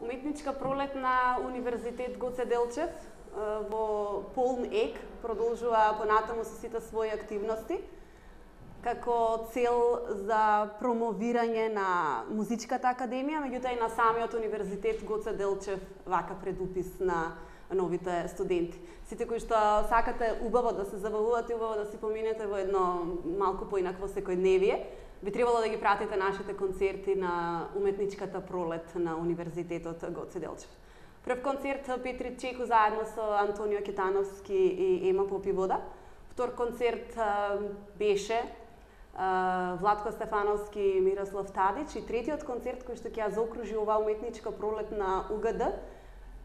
Уметничка пролет на Универзитет Гоце Делчев во полн ек продолжува понатаму со сите своји активности како цел за промовирање на Музичката академија, меѓутоа и на самиот Универзитет Гоце Делчев вака предупис на новите студенти. Сите кои што сакате убаво да се забавувате, убаво да си поминете во едно малку поинакво секојдневие, би требало да ги пратите нашите концерти на Уметничката пролет на Универзитетот Гоце Делчев. Прв концерт Петри Чеку заедно со Антонио Китановски и Ема Попивода. Втор концерт беше Владко Стефановски и Мирослав Тадич. И третиот концерт кој што ќе ја заокружи оваа уметничка пролет на УГД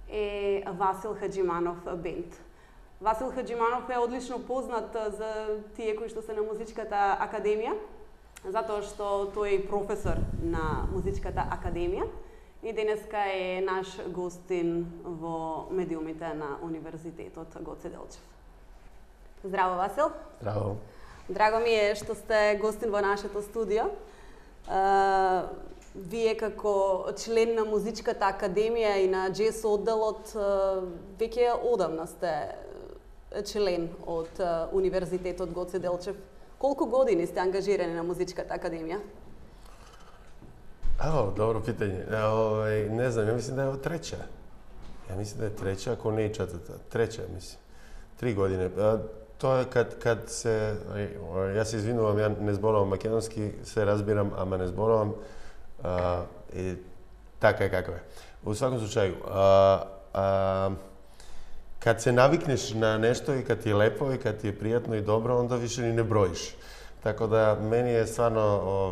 е Васил Хаджиманов бенд. Васил Хаджиманов е одлично познат за тие кои што се на Музичката академија, затоа што тој е професор на Музичката академија и денеска е наш гостин во медиумите на Универзитетот Гоце Делчев. Здраво, Васил. Здраво. Драго ми е што сте гостин во нашето студио. Вие како член на Музичката академија и на джез одделот веќе одамна сте член од Универзитетот Гоце Делчев. Колку години сте ангажирани на Музичката академија? Добро питање. Не знам, ја мислам да е треća. Ја мислам да е треća, ако не и четврта. Треća, мислам. 3 години. Тоа е кад се... Ја се извинувам, ја не зборувам македонски, се разбирам, ама не зборувам. И така е како е. Во сваком случају, кад се навикнеш на нешто и кад ти е лепо и кад ти е пријатно и добро, онда више ни не броиш. Така да, мени е стварно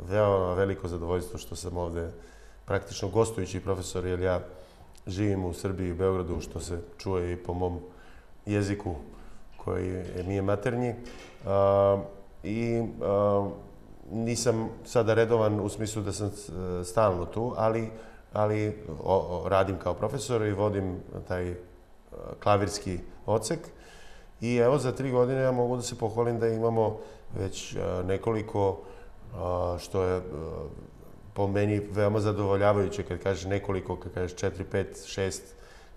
веoma велико задоволство што сам овде практично гостујќи професор, jer ја живим у Србији и Београду, што се чуе и по мом језику, кој ми е матерњи. И нисам сада редован у смислу да сам стално ту, али радим као професор и водим тај клавирски одсек. И ево за 3 години ја могу да се похвалим да имамо веќе неколико, што е по мени веoma задоволјавајуќе, кад кажеш неколико, кад кажеш 4, 5, 6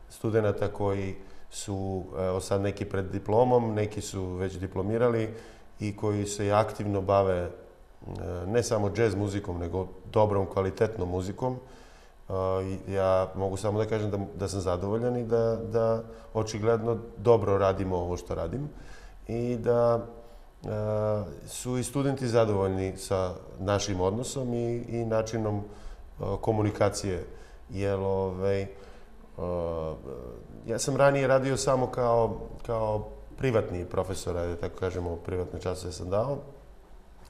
студената кои су сад неки пред дипломом, неки су веќе дипломирали и кои се активно баве не само джез музиком, него добром, квалитетном музиком. Ја могу само да кажем да сум задоволен и да очигледно добро радимо ово што радим и да су и студенти задоволни со нашим односом и начином комуникација. Ја сам ранije радио само као приватни професор, така кажемо, приватни часове сам дао.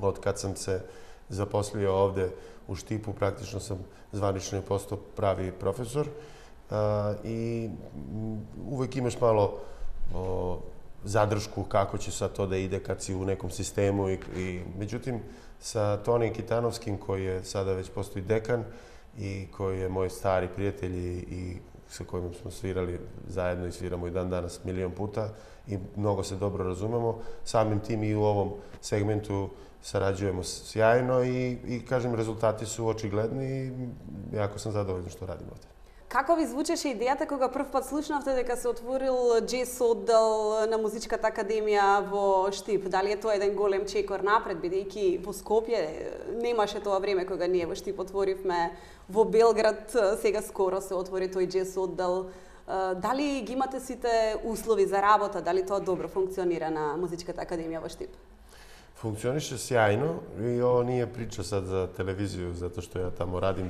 Од кад сам се запослио овде у Штипу, практично сам званично постao прави професор и увек имаш мало задршку како ќе са то да иде кад си у неком систему и меѓутим са Тони Китановским кој е сада веќе постои декан и кој е мој стари пријател и со којим сме свирали заедно и свирамо и дан данас милион пута и многу се добро разумемо, самим тим и у овом сегменту сараđujemo sjajno i kažem, rezultati su очигледни и јако сам задоволен што радим овде. Како ви звучеше идејата кога прв пат слушнавте дека се отворил джез оддел на Музичката академија во Штип? Дали е тоа еден голем чекор напред, бидејќи во Скопје немаше тоа време кога ние во Штип отворивме, во Белград сега скоро се отвори тој джез оддел. Дали ги имате сите услови за работа, дали тоа добро функционира на Музичката академија во Штип? Функционише сјајно и ово nije прича сад за телевизију, затоа што ја тамо радим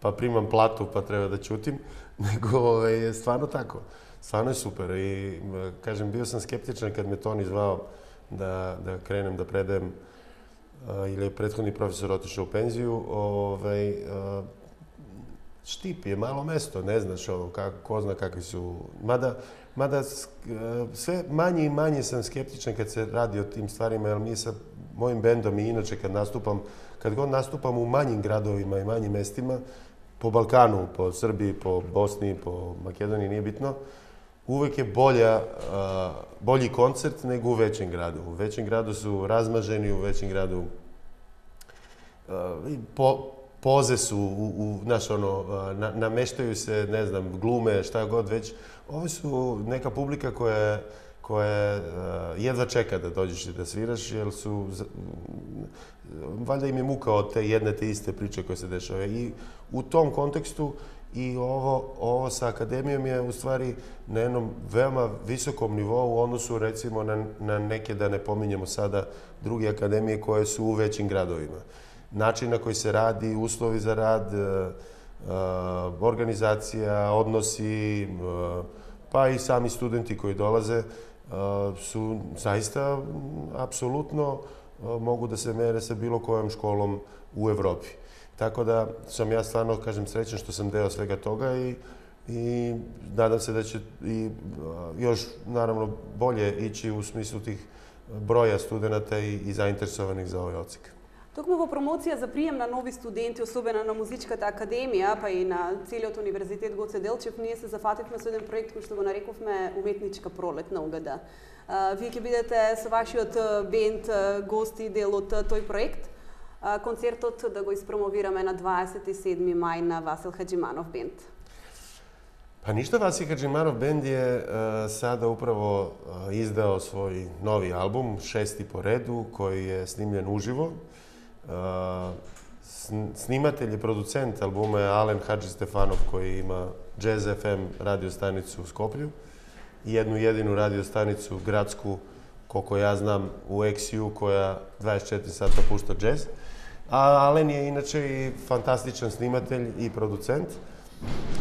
па примам плату, па треба да ќутим, него е стварно тако. Стварно е супер и кажем, био сам скептичен кад ме Тони звао да кренем да предем или претходни професор отишao у пензију, Штип е мало место, не знаш ко зна какви су. Мада све мање и мање сам скептичен кад се ради о тим стварима, jer ми са мојим бендом и иначе кад год наступам у мањим градовима и мањим местима, по Балкану, по Србији, по Босни, по Македонија, nije bitno, uvek je bolji koncert nego u većem gradu. U većem gradu su razmaženi, u većem gradu poze su, znaš, nameštaju se, ne znam, glume, šta god već. Ovo su neka publika koja jedva čeka da dođeš i da sviraš, jer su, valjda im je muka od te jedne te iste priče koje se dešava. I u tom kontekstu i ovo sa akademijom je u stvari na jednom veoma visokom nivou u odnosu recimo na neke, da ne pominjemo sada, druge akademije koje su u većim gradovima. Način na koji se radi, uslovi za rad, organizacija, odnosi, pa i sami studenti koji dolaze su zaista apsolutno mogu da se mere sa bilo kojom školom u Evropi. Tako da sam ja stvarno, kažem, srećan što sam deo svega toga i nadam se da će i još, naravno, bolje ići u smislu tih broja studenta i zainteresovanih za ovaj odsek. Токму во промоција за прием на нови студенти, особено на Музичката академија, па и на целиот универзитет Гоце Делчев, ние се зафативме со еден проект кој што го нарековме Уметничка пролет на УГД. Вие ќе бидете со вашиот бенд гости дел од тој проект. Концертот да го испромовираме на 27. мај на Васил Хаджиманов бенд. Pa ništa, Vasil Hadžimanov bend je sada upravo izdao svoj novi album, 6. po redu, koji je snimljen uživo. Snimatelj i producent albuma je Alen Hadži Stefanov, koji ima Jazz FM radio stanicu u Skoplju i jednu jedinu radio stanicu gradsku, koliko ja znam, u XU, koja 24 sata pušta jazz. A Alen je inače i fantastičan snimatelj i producent.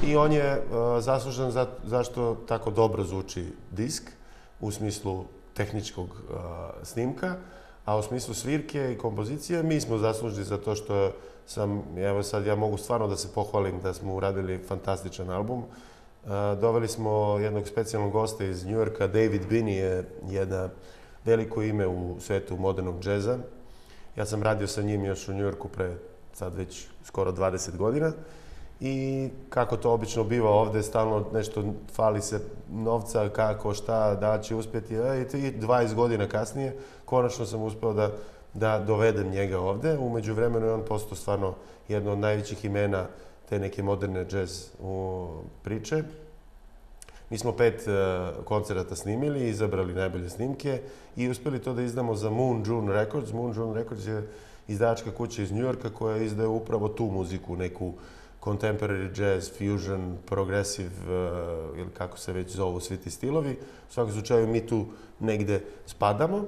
I on je zaslužan zašto tako dobro zvuči disk, u smislu tehničkog snimka, a u smislu svirke i kompozicije mi smo zaslužni za to što evo sad ja mogu stvarno da se pohvalim da smo uradili fantastičan album. Doveli smo jednog specijalnog gosta iz Njujorka, David Binney je jedno veliko ime u svetu modernog džeza. Ja sam radio sa njim još u Njujorku pre sad već skoro 20 godina. I kako to obično biva ovde, stalno nešto fali se novca, kako, šta, da će uspjeti. I 20 godina kasnije, konačno sam uspeo da dovedem njega ovde. Umeđu vremenu je on postao stvarno jedno od najvećih imena te neke moderne džez priče. Mi smo 5 koncerata snimili, izabrali najbolje snimke i uspeli to da izdamo za Moon June Records. Moon June Records je izdavačka kuća iz Njujorka koja izdaje upravo tu muziku, neku contemporary jazz, fusion, progressive, ili kako se već zovu svi ti stilovi. U svakom slučaju mi tu negde spadamo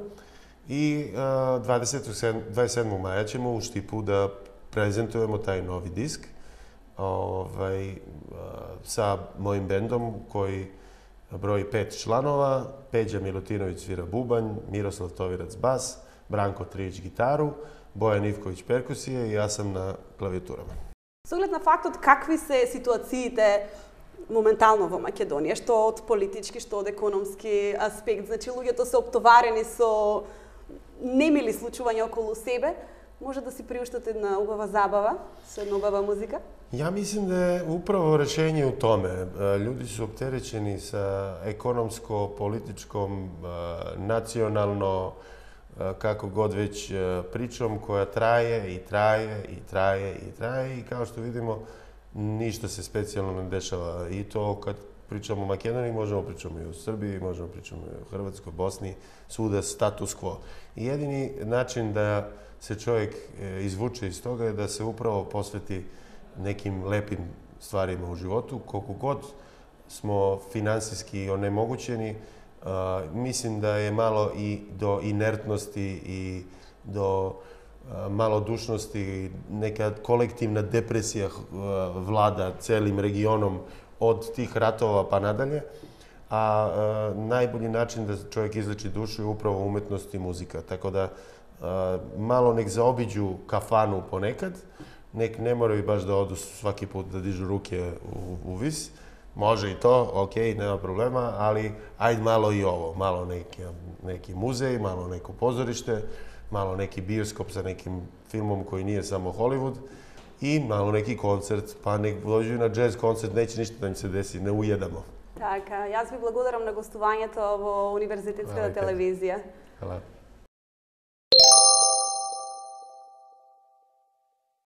i 27. maja ćemo u Štipu da prezentujemo taj novi disk sa mojim bendom koji broji 5 članova. Peđa Milutinović svira bubanj, Miroslav Tovirac bas, Branko Trijić gitaru, Bojan Ivković perkusije i ja sam na klavijaturama. Со оглед на фактот какви се ситуациите моментално во Македонија, што од политички, што од економски аспект, значи луѓето се оптоварени со немили случувања околу себе, може да си приуштате една убава забава со една убава музика? Ja mislim da je upravo rešenje u tome. Ljudi su opterećeni sa ekonomsko-političkom, nacionalno, kako god već pričom koja traje i traje i traje i traje i kao što vidimo ništa se specijalno ne dešava i to kad pričamo o Makedoniji možemo pričamo i o Srbiji, možemo pričamo i o Hrvatskoj, Bosni, svuda status quo. I jedini način da se čovjek izvuče iz toga je da se upravo posveti nekim lepim stvarima u životu, koliko god smo finansijski onemogućeni. Mislim da je malo i do inertnosti i do malodušnosti, neka kolektivna depresija vlada celim regionom od tih ratova pa nadalje. A najbolji način da čovjek izleči dušu je upravo umetnost i muzika. Tako da malo nek zaobiđu kafanu ponekad, nek ne moraju baš da odu svaki put da dižu ruke u vis. Može i to, okej, nema problema, ali ajde malo i ovo, malo neki muzej, malo neko pozorište, malo neki bioskop sa nekim filmom koji nije samo Hollywood i malo neki koncert, pa nek dođu na jazz koncert, neće ništa da im se desi, ne ujedamo. Така, јас ви благодарам на гостувањето во Универзитетската телевизија. Hvala.